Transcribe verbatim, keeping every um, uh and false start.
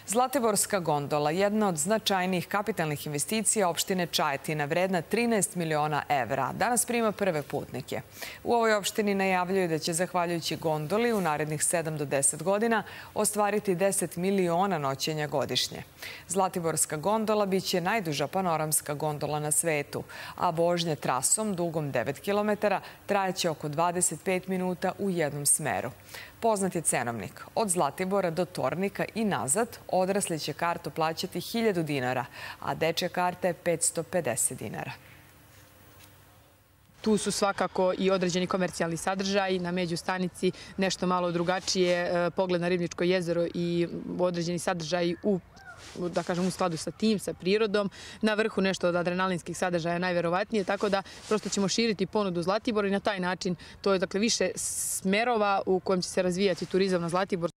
Zlatiborska gondola, jedna od značajnijih kapitalnih investicija opštine Čajetina, vredna trinaest miliona evra, danas prima prve putnike. U ovoj opštini najavljuju da će, zahvaljujući gondoli, u narednih sedam do deset godina ostvariti deset miliona noćenja godišnje. Zlatiborska gondola biće najduža panoramska gondola na svetu, a vožnja trasom dugom devet kilometara trajaće oko dvadeset pet minuta u jednom smeru. Poznat je cenovnik. Od Zlatibora do Tornika i nazad odrasli će kartu plaćati hiljadu dinara, a dečja karta je petsto pedeset dinara. Tu su svakako i određeni komercijalni sadržaj, na međustanici nešto malo drugačije, pogled na Ribničko jezero i određeni sadržaj u da kažem u skladu sa tim, sa prirodom. Na vrhu nešto od adrenalinskih sadržaja najverovatnije, tako da prosto ćemo širiti ponudu Zlatibora i na taj način to je dakle više smerova u kojem će se razvijati turizam na Zlatibor.